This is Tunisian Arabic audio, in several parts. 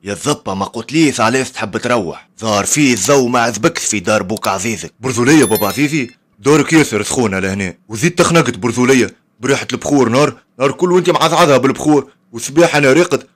يا الزبه ما قلتليش علاش تحب تروح؟ ظهر فيه الضو ما عذبكش في دار بوك عزيزك. برذوليه بابا عزيزي، دارك ياسر سخونة لهنا، وزيد تخنقت برذوليه بريحه البخور، نار نار كل وانت معزعزها بالبخور، وصباح انا راقد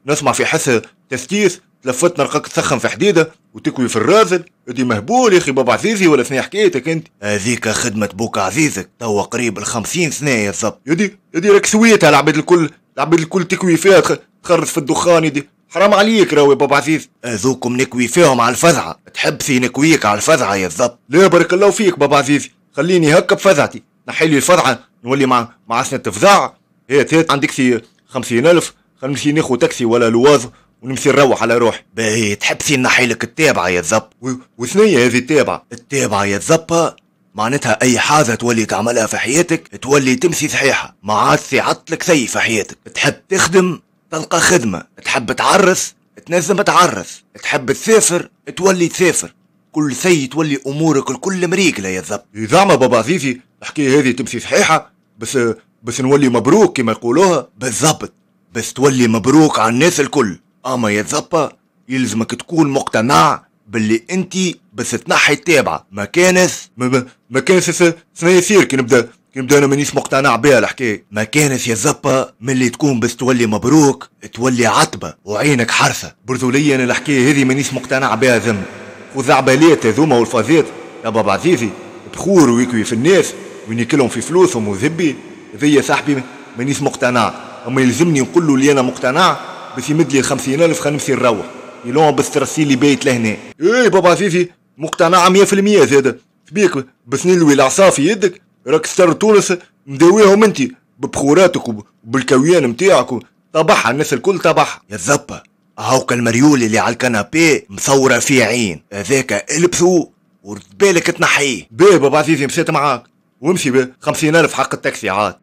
نسمع في حس تستيس، تلفت نلقاك تسخن في حديده وتكوي في الرازل. ادي مهبول يا اخي بابا عزيزي ولا سنة حكايتك انت؟ هذيك خدمة بوك عزيزك توا قريب 50 سنة يا الزب. يدي راك سويتها العباد الكل، العباد الكل تكوي فيها تخرج في الدخان. يدي حرام عليك راهو يا بابا عزيز. هذوكم نكوي فيهم على الفزعه، تحب نكويك على الفزعه يا الزب؟ لا بارك الله فيك بابا عزيزي، خليني هكا بفزعتي، نحي لي الفزعه نولي مع سنة فزع. هات هات عندك سي 50,000، خلينا نمشي ناخذ تاكسي ولا لواز ونمشي نروح على روحي. باهي تحب نحي لك التابعة يا الزب؟ وثنية هذه التابعة؟ التابعة يا الزبه معناتها اي حاجة تولي تعملها في حياتك تولي تمشي صحيحه، ما عادش يعطلك شيء في حياتك. تحب تخدم تلقى خدمة، تحب تعرس تنجم تعرس، تحب تسافر تولي تسافر، كل شيء تولي امورك الكل مريقله يا الزب. زعما بابا عزيزي الحكاية هذه تمشي صحيحه بس نولي مبروك كما يقولوها؟ بالضبط، بس تولي مبروك على الناس الكل. اما يا زبا يلزمك تكون مقتنع باللي انت بس تنحي التابعة، ما كانس ما كانس سنة يصير كي نبدا انا مانيش مقتنع بها الحكاية. ما كانس يا زبا ملي تكون بس تولي مبروك تولي عتبة وعينك حرثه. برذوليا انا الحكاية هذه مانيش مقتنع بها ذم، وزعبالات هذوما والفازات يا بابا عزيزي، بخور ويكوي في الناس وينيكلهم في فلوسهم وذبي، هذي يا صاحبي مانيش مقتنع. اما يلزمني نقول له اللي انا مقتنع بس يمد لي 50,000 خلينا نمشي نروح، يلون بس ترسيلي بيت لهنا. ايه بابا عزيزي مقتنع 100% زاده، شبيك بس نلوي العصا في يدك، راك ستر تونس مداويهم انت ببخوراتك وبالكويان نتاعك، طبعها الناس الكل طبعها. يا الزبه هاوكا المريول اللي على ال canapé مصوره فيه عين، هذاك البسو ورد بالك تنحيه. باهي بابا عزيزي مشيت معاك، وامشي ب 50,000 حق التاكسي عاد.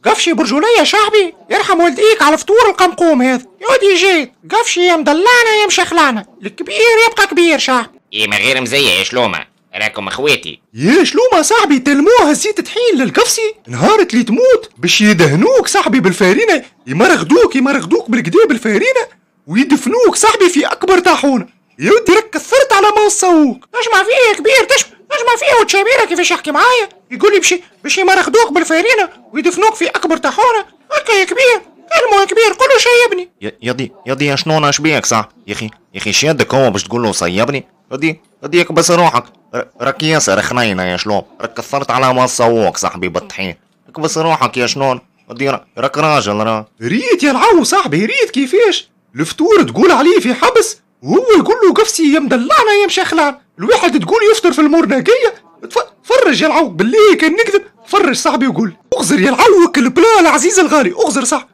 قفشي برجولية شعبي يرحم والديك على فطور القمقوم هذا، يا ودي جيت قفشي يا مدلعنا يا مشخلعنا، الكبير يبقى كبير شعبي. ايه ما غير مزية يا شلومة، راكم اخواتي. يا شلومة صاحبي تلموها زيت طحين للقفصي، نهارت اللي تموت باش يدهنوك صاحبي بالفارينة، يمرغدوك بالكدا بالفارينة ويدفنوك صاحبي في أكبر طاحونة. يا ودي راك كثرت على ما وصوك. تجمع فيه يا كبير، تجمع فيه وتشابيره كيفاش يحكي معايا، يقول لي باش يمرخدوك بالفارينة ويدفنوك في أكبر طاحونة. هكا يا كبير، كلمة يا كبير، قول له شيبني. يدي يا شنو شبيك صح؟ يا اخي شادك هو باش تقول له صيبني؟ يدي بس روحك، راك ياسر خنينة يا شلون، راك كثرت على ما صوك صاحبي بالطحين، بس روحك يا شلون، يدي راك راجل راه. ريت يا العو صاحبي، ريت كيفاش الفطور تقول عليه في حبس وهو يقول له قفصي يا مدلعنا يا مشخلعنا، الواحد تقول يفطر في المورناقية. فرج يا العو بالله كان نكذب، فرج صاحبي وقول اغزر يا العوك ال plat العزيز الغالي، اغزر صح،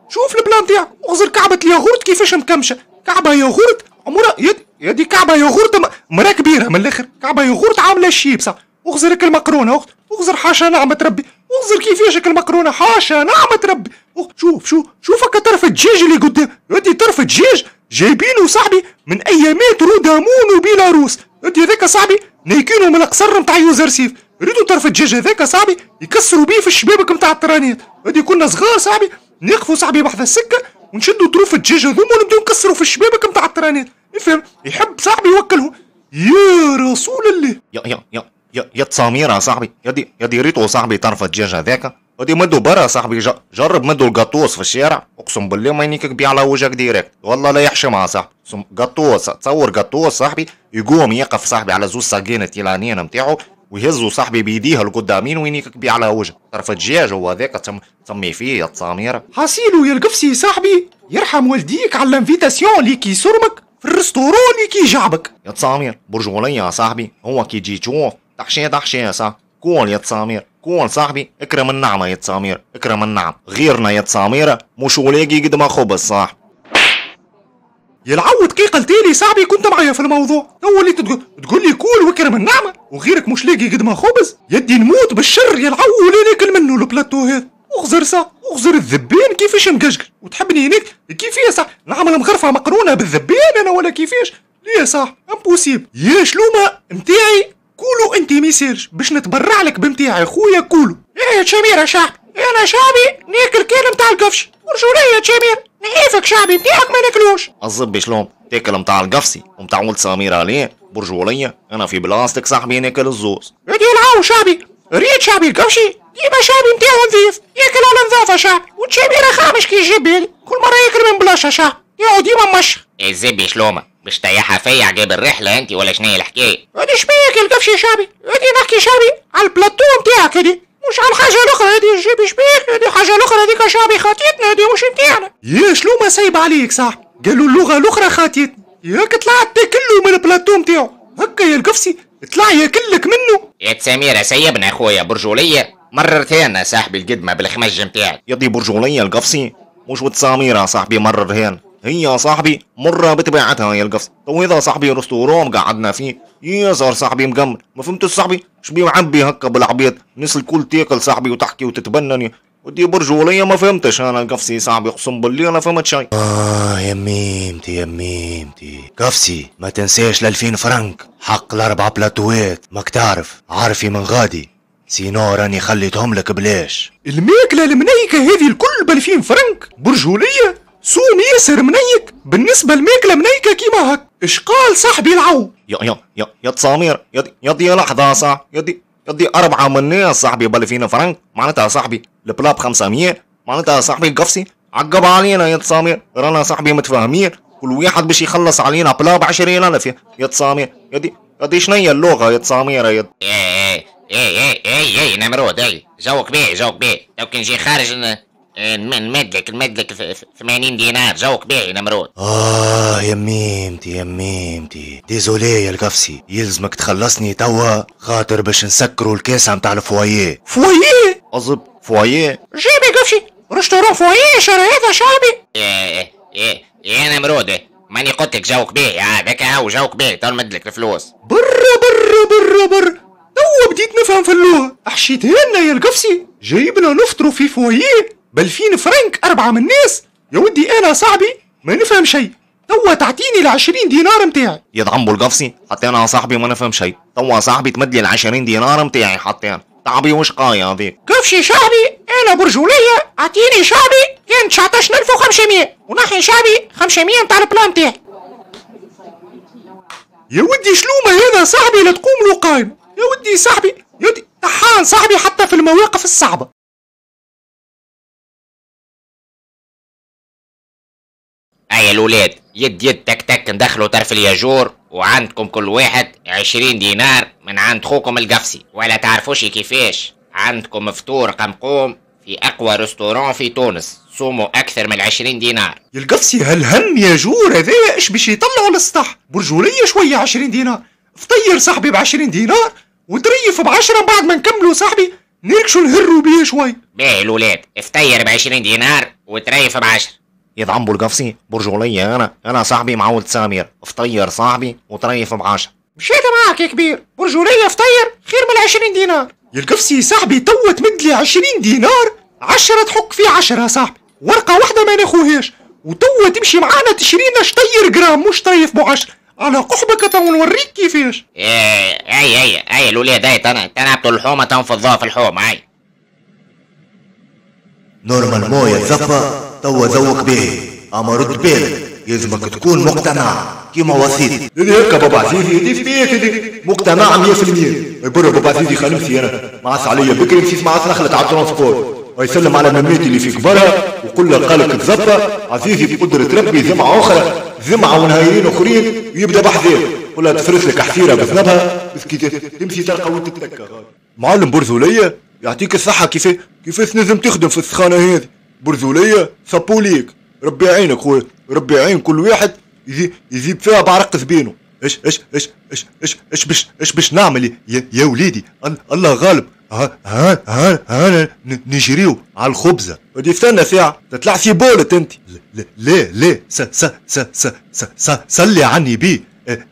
شوف ال plat نتاعك، اغزر كعبة الياغورت كيفاش مكمشة، كعبة ياغورت عمرها يدي كعبة ياغورت مرا كبيرة من الاخر، كعبة ياغورت عاملة الشيب صح. اغزر المقرونة، اغزر حاشا نعمة ربي، اغزر كيفاش المقرونة حاشا نعمة ربي. شوف شوف شوف هكا طرف الدجاج اللي قدام، يدي طرف الدجاج جايبينه صاحبي من ايامات رودامون وبيلاروس، يدي هذاك صاحبي نايكينه من القصر نتاع يوزرسيف، ريدو طرف الدجاج هذاك صاحبي يكسروا بيه في الشبابك نتاع الترانيت. يدي كنا صغار صاحبي نقفوا صاحبي بحذا السكة ونشدوا طروف الدجاج هذوما ونبداو نكسروا في الشبابك نتاع الترانيت، يفهم يحب صاحبي يوكلهم. يا رسول الله يا يا يا يا يا تصاميره صاحبي، يدي ريتو صاحبي طرف الدجاج هذاك، يدي مدو برا صاحبي، جرب مدو القطوس في الشارع، اقسم بالله ما ينيكك بيه على وجهك direct، والله لا يحشمها صاحبي. قطوس تصور قطوس صاحبي يقوم يقف صاحبي على زوز ساقين التيلانيين نتاعو ويهزو صاحبي بيديه القدامين وينيكك بيه على وجهك، طرف الدجاج هو هذاك تسمي فيه يا تصاميره. حاسيلو يا القفصي صاحبي يرحم والديك على ال invitation اللي كي صرمك في ال restaurant اللي كي جعبك. يا تصامير برجولية يا صاحبي، هو كي تجي تشوف تحشيه تحشيه صاحبي، كول يا تصامير كول صاحبي، اكرم النعمة يا تصامير، اكرم النعم، غيرنا يا تصاميرة مش ولاقي قد ما خبز صاحبي. يا العو دقيقة لتالي صاحبي كنت معايا في الموضوع، تو اللي تقول لي كول واكرم النعمة وغيرك مش لاقي قد ما خبز، يدي نموت بالشر يا العو ولا ناكل منه البلاتو هذا. اغزر صح، اغزر الذبان كيفاش مقشقل، وتحبني هناك كيفاش صح نعمل مغرفة مقرونة بالذبان انا ولا كيفاش؟ ليه صح impossible. يا شلومة نتاعي كولو انت ميسالش باش نتبرع لك بنتاعي خويا كولو. ايه شميرة شعبي، انا شعبي ناكل كان نتاع القفشي. ورجوليه تشامير نعيفك شعبي نتاعك ما ناكلوش. الزبي شلون تاكل نتاع القفصي ومتاع ولد سميرة ليه؟ برجولية انا في بلاصتك صاحبي ناكل الزوز. هادي العاو شعبي ريت شعبي القفشي ديما شعبي نتاعو نظيف ياكل على نظافة شعبي، وتشاميرة خامش كي الجبال كل مرة ياكل من بلاصة شعبي ياو ديما مش. الزبي شلومة باش طيحها فيا عقاب الرحلة انت ولا شنيا الحكاية؟ هادي شبيك القفشي شعبي، هادي نحكي شعبي على البلاتو نتاعك هادي مش على الحاجة الأخرى. هادي الجيب شبيك هادي حاجة الأخرى هذيك شعبي خاطيتنا هادي مش نتاعنا. يا شلومة سايب عليك صاحبي، قالوا اللغة الأخرى خاطيتنا ياك طلعت تاكلو من البلاتو نتاعو هكا يا القفصي طلع ياكلك منه. يا سميرة سيبنا خويا برجولية مررتهن صاحبي القدمة بالخمج نتاعك. يا برجولية القفصي مش وتساميرة صاحبي مررهن هي صاحبي مرة بطبيعتها يا القفص. تو هذا صاحبي restaurant قعدنا فيه ياسر صاحبي مقمل ما فهمتش صاحبي شبيه معبي هكا بالعبيط الناس الكل تاكل صاحبي وتحكي وتتبنن. ودي برجولية ما فهمتش انا القفصي صاحبي اقسم بالله انا فهمت شيء. يا ميمتي يا ميمتي قفصي ما تنساش 2000 فرنك حق الاربع بلاتوات ماك تعرف عارفي من غادي sinon راني خليتهم لك بلاش. الماكلة المنيكة هذه الكل ب2000 فرنك برجولية سوم ياسر منيك بالنسبة للماكلة منيكة كيما هك. اش قال صاحبي العو؟ يا يا يا يا تسامير يا دي لحظة صاح يا دي أربعة من الناس صاحبي ب2000 فرنك معناتها صاحبي ال plat ب 500 معناتها صاحبي القفصي عقب علينا يا تسامير رانا صاحبي متفاهمين كل واحد باش يخلص علينا plat ب 20000 يا تسامير. يا دي شنيا اللغة يا تسامير يا اي اي اي اي نمرود اي جوك بيه جوك بيه لو كان جي خارج نمدلك 80 دينار جوك باهي نمرود. يا ميمتي يا ميمتي désolé يا القفصي يلزمك تخلصني توا خاطر باش نسكروا الكاسة متاع ال foyer. foyer أصب foyer جيبي قفشي restaurant foyer شهر هذا شعبي. ايه ايه يا نمرود ماني قلت لك جوك باهي هذاك هو جوك باهي تو نمدلك الفلوس. برا برا برا برا توا بديت نفهم في اللغة حشيتها لنا يا القفصي جايبنا نفطروا في foyer ب2000 فرنك أربعة من الناس. يا ودي أنا صاحبي ما نفهم شيء توا تعطيني 20 دينار متاعي. يدعمبو القفصي حتى أنا صاحبي ما نفهم شيء توا صاحبي تمد لي 20 دينار متاعي حتى أنا تعبي وش قاية هذيك. قفشي شعبي أنا برجولية أعطيني شعبي كان 19500 ونحي شعبي 500 متاع ال plat متاعي. يا ودي شلومة هذا صاحبي لا تقوم له قايمة. يا ودي صاحبي يا ودي طحان صاحبي حتى في المواقف الصعبة. هيا الولاد يد يد تك تك ندخلوا طرف الياجور وعندكم كل واحد 20 دينار من عند خوكم القفصي ولا تعرفوش كيفاش عندكم فطور قمقوم في اقوى restaurant في تونس صوموا اكثر من 20 دينار. يا القفصي هالهم ياجور هذايا اش باش يطلعوا للسطح برجولية شوية 20 دينار فطير صاحبي ب 20 دينار وتريف ب10 بعد ما نكملوا صاحبي نركشوا نهروا بيه شوي. باهي الولاد افطير ب 20 دينار وتريف ب10. يدعمبو القفصي برجولية أنا صاحبي مع ولد سامير فطير صاحبي وطريف ب10. مشيت معاك يا كبير برجولية فطير خير من 20 دينار. يا القفصي صاحبي توا تمد لي 20 دينار 10 تحك في 10 صاحبي ورقة واحدة ما ناخوهاش وتوا تمشي معانا تشرينا شطير جرام مش طريف ب10 على قحبك تو نوريك كيفاش. اي اي اي الولاد اي تنعبطوا الحومة تنفضوها في الحومة اي. normalement يا زفا توا ذوق به اما رد بالك يلزمك تكون مقتنع كيما وصيت. هذه هكا بابا عزيزي هذه فيك هذه مقتنع 100%. برا بابا عزيزي خلمسي انا معس عليا بكري مشيت معس نخلت على ال transport ويسلم على مماتي اللي في كبرها وقول له قالك الزفه عزيزي بقدرة ربي جمعة أخرى جمعة ونهايرين أخرين ويبدا بحذاك قول لها تفرس لك حسيرة بذنبها بس كي تمشي تلقى وين تتكى. معلم برزولية يعطيك الصحة كيفاش نجم تخدم في السخانة هذه برزولية سابوليك ربي يعينك خويا ربي يعين كل واحد يجيب فيها بعرق زبينه. اش اش اش اش اش اش باش اش باش نعمل يا وليدي الله غالب ها ها ها ها نجريو على الخبزة ودي استنى ساعة تطلع في بولت انت. لا لا س س س س س س صلي عني بيه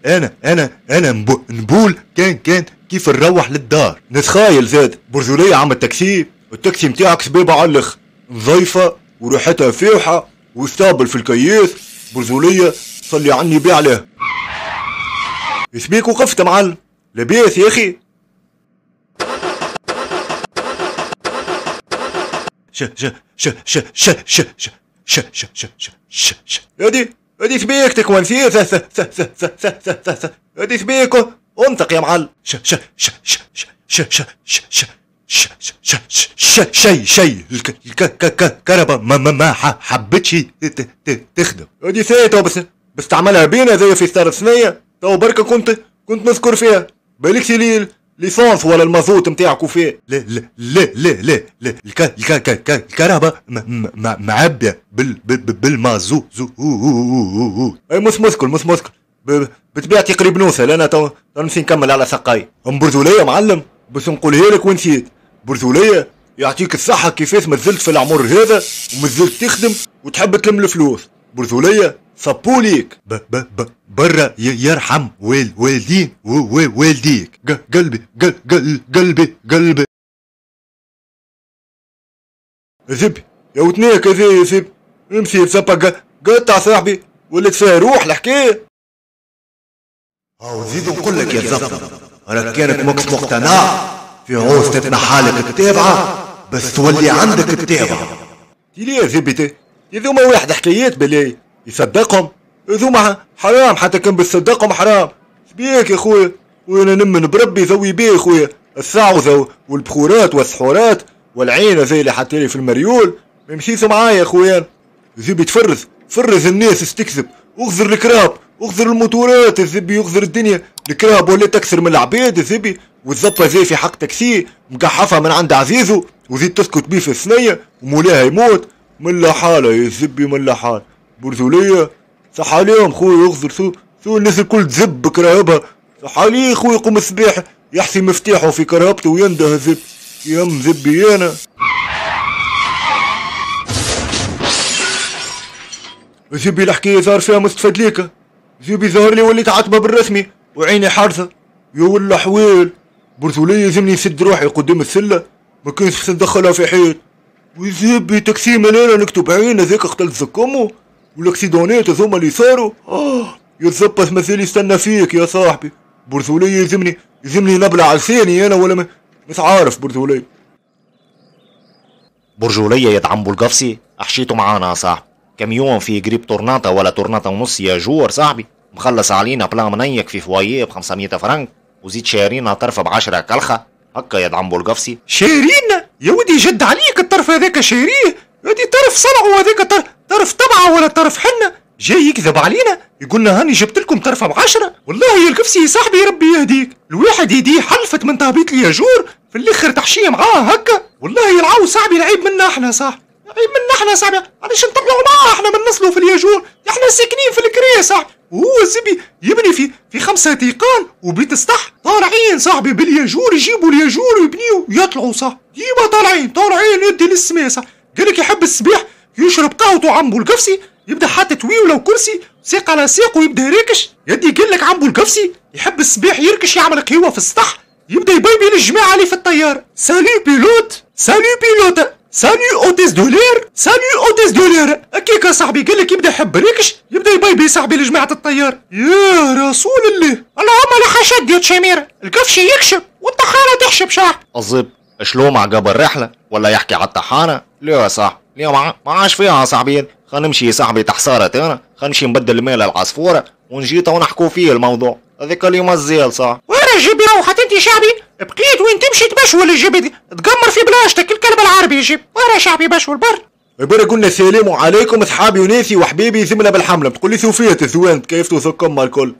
انا انا انا نبول كان كيف نروح للدار نتخايل زاد برجولية عم التاكسي التاكسي نتاعك سبيبه على الاخر نظيفة وريحتها فيوحه وستابل في الكياس برجولية صلي عني بيه عليها. يسبيك وقفت معلم لاباس يا اخي؟ ش ش ش ش ش ش ش ش ش ش ش ش ش هادي هادي سبيك تكون فيه ث ث ث ث ث ث ث ث ث هادي سبيك انطق يا معلم. ش ش ش ش ش ش ش ش ش ش ش ش شي شي الكهرباء ما حبتش تخدم. هادي ثانية بس تعملها بينا زي في ستار ثنية تو بركة كنت نذكر فيها بالك لي l'essence ولا المازوت نتاعك فيه. لا لا لا لا لا لا الكهرباء معبية بالمازوت. اي مش مشكل مش مشكل بطبيعتي قريب نوصل انا تو نمشي نكمل على سقاي. ام برزولية معلم بس نقولها لك ونسيت. برزولية يعطيك الصحة كيفاش مازلت في العمر هذا ومازلت تخدم وتحب تلم الفلوس. برزولية صبوليك ب ب ب برا يرحم والدين والديك. قلبي قلبي قلبي زبي يا وتنيك يا زبي امشي بسبا قطع صاحبي ولت فيها روح الحكاية. وزيد نقول لك يا زبطة راك كانت ماكش مقتنع في عوز تتنحالك التابعة بس تولي عندك التابعة. تي ليه زبي ذوما واحد حكايات بلاي يصدقهم ذوما حرام حتى كان بتصدقهم حرام. شبيك يا خويا وانا نمن بربي ذوي بيه خويا الثعوذة والبخورات والسحورات والعينة زي اللي حطيلي في المريول ما يمشيش معايا يا خويا. زبي تفرز فرز الناس استكذب اغزر الكراب اغزر الموتورات الزبي اغزر الدنيا. الكراب ولات اكثر من العباد الزبي والزبطة زي في حق تاكسي مقحفها من عند عزيزو وزيد تسكت بيه في الثنية ومولاها يموت. من لا حالة يا زبي من لا حالة. برزولية صح عليهم خويا يغزر سو الناس الكل تزب كراهبها. صح عليه خويا يقوم الصباح يحسي مفتاحه في كرهبته وينده زب يم زبي انا. زبي الحكاية ظهر فيها مستفاد ليك. زبي ظهر لي وليت عتبة بالرسمي وعيني حارسة يا ولا حويل. برزولية يلزمني نسد روحي قدام السلة ما كانش ندخلها في حيط. وزبي تاكسي مليانة نكتب عين هذاك قتلت زكمو والاكسيدونات هذوما اللي صاروا. يا تزبط مثال يستنى فيك يا صاحبي. برزولية يلزمني نبلع لساني انا ولا مش عارف. برزولية برجولية يدعم القفصي احشيته معانا يا صاحبي. كميون فيه قريب طورناطة ولا طورناطة ونص يا جور صاحبي مخلص علينا بلا منيك في فواييه ب 500 فرنك وزيد شارينا طرفة ب10 كلخة هكا يدعم القفصي. شارينا يا ودي جد عليك الطرف هذاك شاريه هادي طرف صنعه هذاك طرف طبعه ولا طرف حنة جاي يكذب علينا يقولنا هاني جبت لكم طرفه ب10. والله يا القفصي يا صاحبي ربي يهديك الواحد يديه حلفت من تهبيط الياجور في الاخر تحشيه معاه هكا. والله يلعو صاحبي العيب منا احنا صاحبي عيب منا احنا صاحبي علاش نطلعوا معاه احنا من نصلوا في الياجور احنا ساكنين في الكريه صاحبي وهو الزبي يبني في 5 تيقان وبيت سطح طالعين صاحبي بالياجور يجيبوا الياجور ويبنيو يطلعوا صاحبي ديما طالعين يدي للسماء صاحبي. قالك يحب الصباح يشرب قهوته عمبو القفصي يبدا حاطط ويوله وكرسي ساق على ساق ويبدا يركش يدي. قال لك عمبو القفصي يحب الصباح يركش يعمل قهوة في السطح يبدا يبيبي للجماعة اللي في الطيارة. salut pilote salut pilote salut hôtesse de l'air salut hôtesse de l'air هكاك صاحبي. قال لك يبدا يحب ريكش يبدا يبيبي صاحبي لجماعة الطيار. يا رسول الله اللهم لا حشد يا تشامير القفشي يكشب والطحانه تحشب شاح. الزب شلو عقب الرحلة ولا يحكي على الطحانه؟ لا يا صاحبي لا ما عاش فيها يا صاحبي. خلينا نمشي يا صاحبي تحصارة انا خلينا نمشي نبدل المال العصفوره ونجي تو نحكوا فيه الموضوع هذاك اللي مازال صح. وين جيبي روحت انت شعبي بقيت وين تمشي تبشول الجيب تقمر في بلاجتك الكلب العربي يجيب وين شعبي بشول بر. يبارك قلنا السلام عليكم اصحابي وناسي وحبيبي زملة بالحمله تقول لي سوفية الزوان كيف توثقكم الكل.